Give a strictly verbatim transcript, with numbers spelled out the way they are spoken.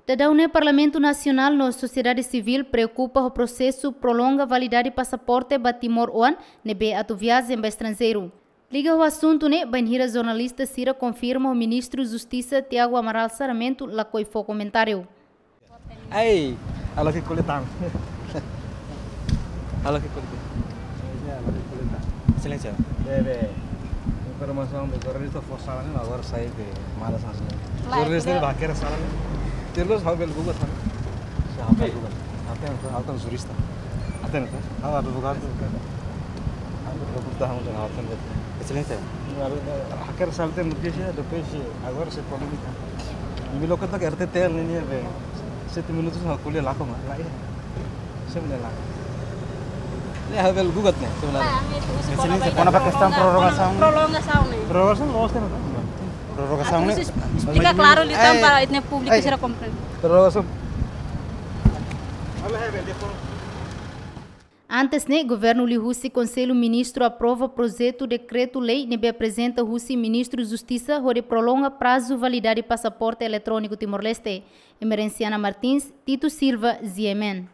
Daudaun ne'e Parlamentu Nasionál no sosiedade sivíl preokupa ho prosesu prolonga validade pasaporte ba timoroan ne'ebé atu viajen ba estranjeiru. Liga ho asuntu ne'e, bainhira jornalista sira konfirma ho Ministru Justisa Tiago Amaral Sarmento lakohi fó komentáriu. Ai, halo ke kulitan. Halo ke kulitan. Iya, halo ke kulitan. Exelénsia. Be, be. Informasaun be jornalista fó sala ne'e, agora sai be malas hanesan ne'e. Jornalista ne'e ba hakerek sala ne'e. Terus ha'u bele buka tan. Ha'u bele buka. Ha'u kan, ha'u kan jurista. Ha'u kan advogadu. Ha'u kan doktor, ha'u kan. Exelénsia. Hakerek sala ne'e notísia, depois agora sai polémika. Imi loke to'ok R T T L ne'e, ne'e be. Sete minutus ha'u ko'alia lakon, la iha. Sempre la. Ne'e ha'u bele gugat ne'e, sebenarnya. Exelénsia, kona-ba kestaun prorrogasaun. Prorrogasaun ne'e. Prorrogasaun ne'e. Atu esplika klaru liután para ita-nia públiku sira komprende. Prorrogasaun. Antes ne'e, governu liuhusi Konsellu Ministru aprova projetu dekretu-lei ne'ebé aprezenta husi Ministru Justisa hodi prolonga prazu validade pasaporte eletróniku Timor-Leste. Emerenciana Martins, Tito Silva, G M N.